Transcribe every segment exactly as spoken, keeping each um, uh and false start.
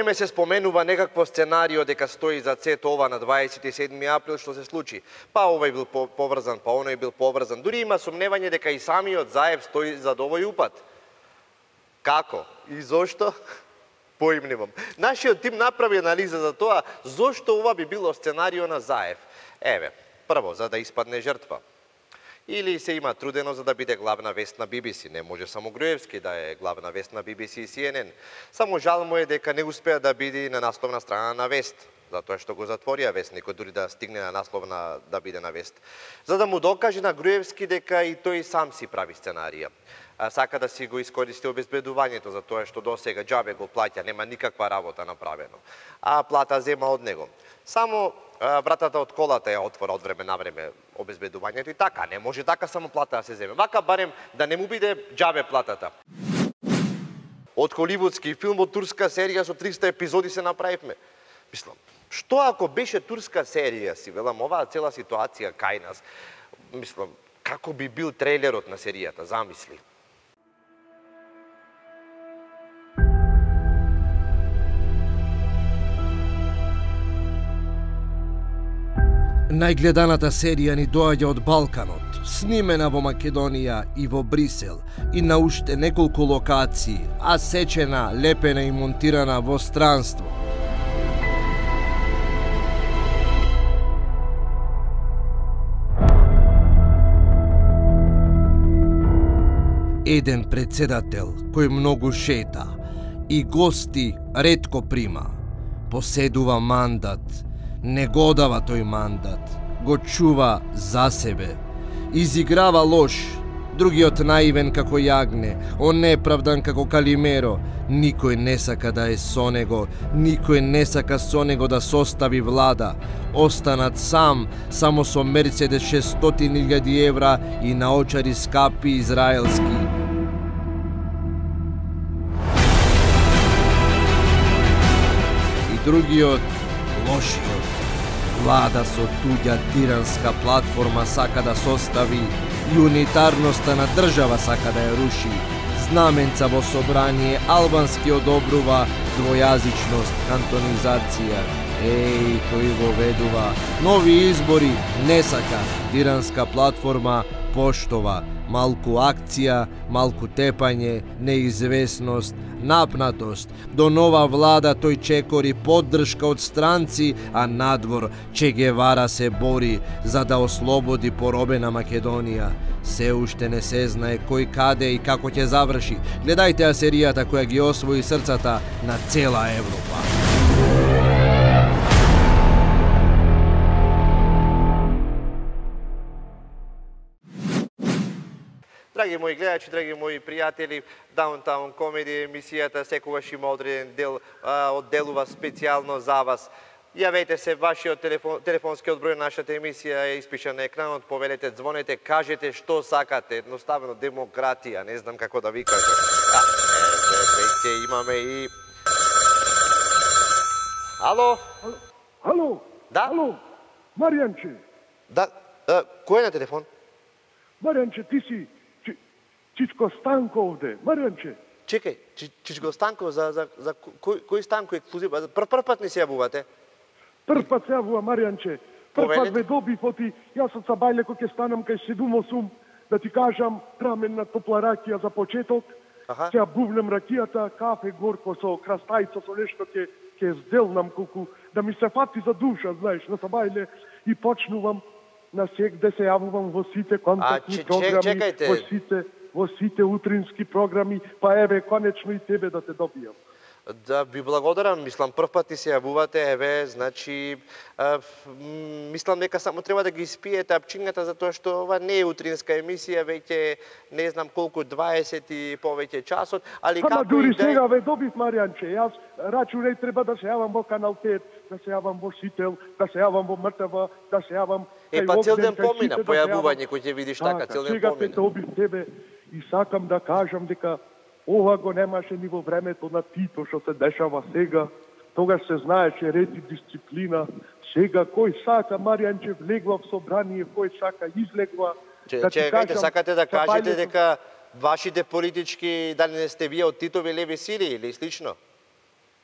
време се споменува некакво сценарио дека стои за сето ова на дваесет и седми април, што се случи. Па овој бил поврзан, па оној бил поврзан. Дури има сомневање дека и самиот Заев стои за овој упад. Како? И зошто? Поим немам. Нашиот тим направи анализа за тоа зошто ова би било сценарио на Заев. Еве, прво, за да испадне жртва. Или се има трудено за да биде главна вест на Би Би Си. Не може само Груевски да е главна вест на Би Би Си и Си Ен Ен. Само жал му е дека не успеа да биде на насловна страна на вест. Затоа што го затворија вестникот, дури да стигне на насловна да биде на вест. За да му докаже на Груевски дека и тој сам си прави сценарија. Сака да си го искористи обезбедувањето за тоа што досега џабе го плаќа, нема никаква работа направено. А плата зема од него. Само вратата од колата ја отвора од време на време обезбедувањето и така, не може така само плата да се земе. Вака барем да не му биде џабе платата. Од холивудски филм, од турска серија со триста епизоди се направивме. Мислам, што ако беше турска серија, си велам, оваа цела ситуација кај нас, мислам, како би бил трейлерот на серијата, замисли. Најгледаната серија ни доаѓа од Балканот, снимена во Македонија и во Брисел и на уште неколку локации, а сечена, лепена и монтирана во странство. Еден председател кој многу шета и гости ретко прима, поседува мандат, не го дава тој мандат, го чува за себе, изиграва лош, другиот наивен како јагне, он неправдан како Калимеро, никој не сака да е со него, никој не сака со него да состави влада, останат сам, само со Мерцедес шестстотини илјади евра и наочари скапи израелски. И другиот, лошиот, влада со туѓа тиранска платформа сака да состави и унитарноста на држава сака да ја руши. Знаменца во собрание албански одобрува двојазичност, кантонизација. Еј, тој го ведува. Нови избори не сака. Тиранска платформа поштова. Малку акција, малку тепање, неизвестност, напнатост. До нова влада тој чекори поддршка од странци, а надвор Че Гевара се бори за да ослободи поробена Македонија. Се уште не се знае кој каде и како ќе заврши. Гледајте ја серијата која ги освои срцата на цела Европа. Драги мои гледачи, драги мои пријатели, Даунтаун Комеди емисијата секогаш има одреден дел, одделува специјално за вас. Јавете се, вашиот телефон, телефонскиот број на нашата емисија е испишан на екранот, повелете, звонете, кажете што сакате, едноставно демократија, не знам како да ви кажам. А, е, веќе имаме и... Ало? Ало? Да? Ало? Маријанче? Да, а, кој е на телефон? Маријанче, ти си Чичко Станко овде, Маријанче. Чекај, Чичко Станко, за, за, за кој, кој Станко ексклузив? Прв, прв пат не се јавувате? Прв пат се јавува, Маријанче. Прв пат ве добив, оти, јас од Сабајле кој ќе станам кај седум осум, да ти кажам, траменна топла ракија за почеток, ќе ја бувнем ракијата, кафе горко со крастајца, со нешто ќе ќе зделнам колку, да ми се фати за душа, знаеш, на Сабајле и почнувам на сегде се јавувам во сите контактни а, програми, чекайте. во сите во сите утрински програми, па еве, конечно и тебе да те добијам. Да, ви благодарам, мислам, прв пат ти се јавувате, еве, значи, а, мислам дека само треба да ги испиете апчињата, затоа што ова не е утринска емисија, веќе не знам колку, дваесет и повеќе часот, али Ама како дури и да... сега ве добив, Маријанче, јас рачунај треба да се јавам во Канал пет, да се јавам во Сител, да се јавам во МРТВ, да се јавам... Е, па цел ден помина, појавување, кој ќе видиш така, цел ден сега помина. те добив тебе и сакам да кажам дека ова го немаше ни во времето на Тито, што се дешава сега. Тогаш се знаеше ред и дисциплина. Сега кој сака, Маријанче, влегва в собрание, кој сака излегва. Че, да чекајте, сакате да кажете Сабајлето... дека вашите политички, дали не сте вие од Титови леви сили или слично?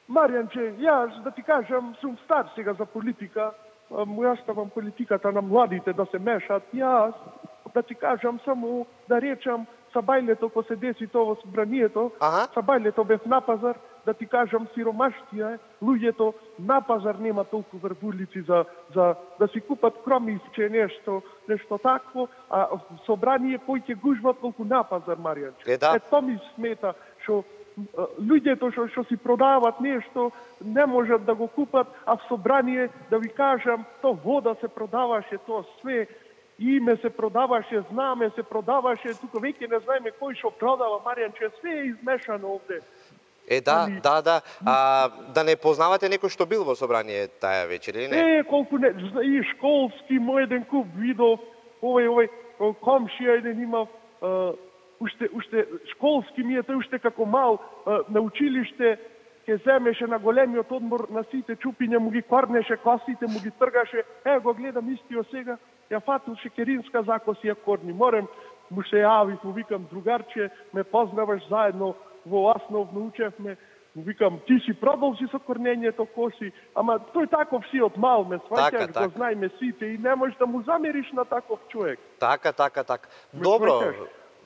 Маријанче, јас да ти кажам, сум стар сега за политика, му ја ставам политиката на младите да се мешат. Јас, да ти кажам, само да речам, са бајлето ко се деси тоа во собранието, са бајлето бев на пазар, да ти кажам, сиромаштија, луѓето на пазар нема толку врвулици за, за да си купат кромивче, нешто, нешто такво, а в собрание поќе гужват толку на пазар, Маријанче. Е, да. Е, то ми смета, што луѓето што, што си продават нешто, не можат да го купат, а в собрание, да ви кажам, то вода се продаваше, то све, име се продаваше, знаме се продаваше, тука веќе не знаеме кој што продава, Маријанче, све е измешано овде. Е, да, Али... да, да. А, да не познавате некој што бил во собрание таја вечер, или не? Е, колку не, и школски, мој еден куп видов, овој, овој, комшија еден имав, а, уште, уште, школски ми е тој уште како мал, а, на училиште, ке земеше на големиот одмор на сите чупиња, му ги корнеше косите, му ги тргаше, е, го гледам истиот сега, ја фатил шекеринска закоси ја корни. Морем, му се јавив, му викам, другарче, ме познаваш заедно, во основно учевме, му викам, ти си продолжи со корнењето коси, ама тој таков си од мал, ме сваќаш, го знаеме сите и не можеш да му замериш на таков човек. Така, така, така. Добро,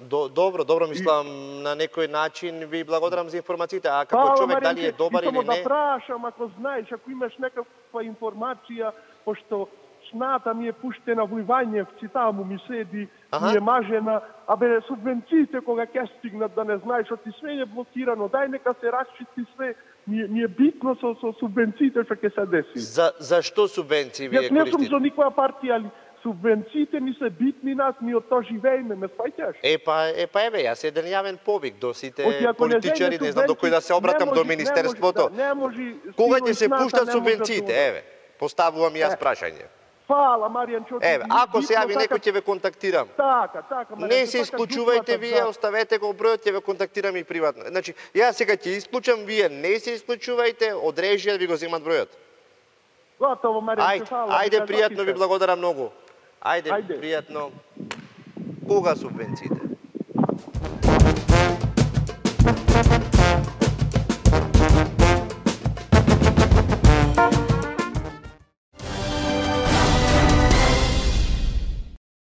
до, добро, добро, мислам, и... на некој начин ви благодарам за информациите, а како Па, човек Маринке, дали е добар или не? да прашам, ако знаеш, ако имаш некаква информација, пошто сната ми е пуштена во Ивањевци, таму ми седи, ага. Ми е мажена, абе субвенциите кога ќе стигнат да не знаеш, што ти све е блокирано, дај нека се расчисти све, ми, ми е битно со, со субвенциите што ќе се деси. За, зашто субвенции вие користите? Јас не сум за никоја партија, али субвенциите ми се битни нас, ми од тоа живееме, ме сваќаш? Е па, е па еве, јас еден јавен повик до сите политичари, не, не знам до кој да се обратам, може, до Министерството. Не може, кога ќе се пуштат субвенциите, еве, поставувам јас прашање. Фала, Маријанчо. Еве, ако се јави некој ќе ве контактирам. Така, така, Маријанчо. Не се исклучувајте вие, оставете го бројот, ќе ве контактирам и приватно. Значи, јас сега ќе исклучам, вие не се исклучувајте, од режија ви го земат бројот. Готово, Маријанчо, фала. Ајде, пријатно ви благодарам многу. Ајде, пријатно. Кога субвенциите?